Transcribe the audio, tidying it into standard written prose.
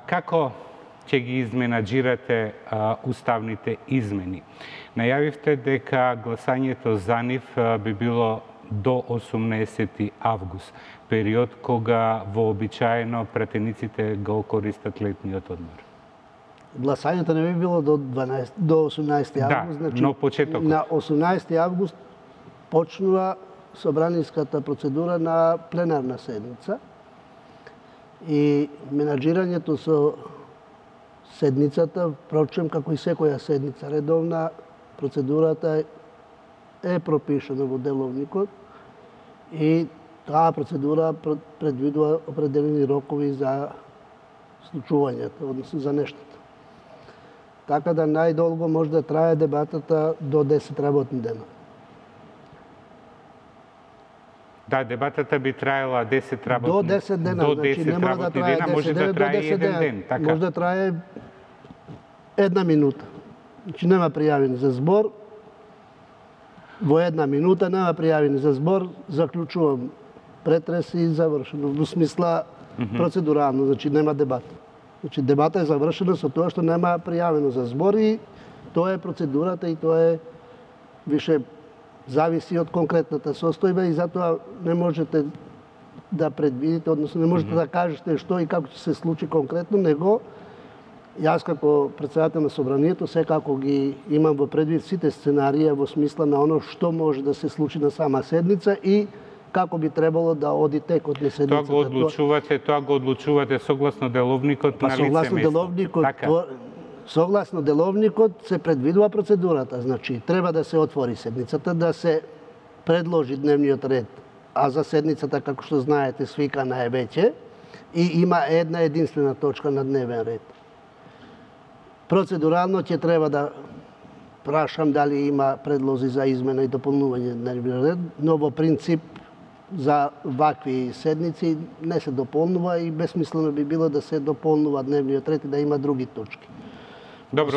Како ќе ги изменаџирате уставните измени? Најавивте дека гласањето за нив би било до 18 август, период кога вообичаено пратениците го користат летниот одмор. Гласањето не би било до 18 август, значи но почетокот. На 18 август почнува собраниската процедура на пленарна седница и менаџирањето со седницата, впрочем, како и секоја седница редовна, процедурата е пропишана во деловникот и таа процедура предвидува определени рокови за случувањето, односно за нештата. Така да најдолго може да трае дебатата до 10 работни дена. Да, дебатата би траела 10 работни до 10 дена. До 10 значи, работни дена, може да трае еден ден. Така. Може да трае една минута. Значи нема пријавени за збор. Во една минута нема пријавени за збор, заклучувам претрес и завршено. Во смисла процедурално, значи нема дебата. Значи дебата е завршена со тоа што нема пријавено за збор и тоа е процедурата и тоа е више зависи од конкретната состојба и затоа не можете да предвидите, односно не можете да кажете што и како ќе се случи конкретно, него јас како претседател на собранието секако ги имам во предвид сите сценарија во смисла на оно што може да се случи на сама седница и како би требало да оди текот на седницата. Тоа го одлучувате согласно деловникот на лице место. Согласно деловникот се предвидува процедурата, значи треба да се отвори седницата, да се предложи дневниот ред, а за седницата, како што знаете, свикана е веќе и има една единствена точка на дневен ред. Процедурално ќе треба да прашам дали има предлози за измена и дополнување на дневниот ред, но во принцип за вакви седници не се дополнува и бесмислено би било да се дополнува дневниот ред и да има други точки. Добро.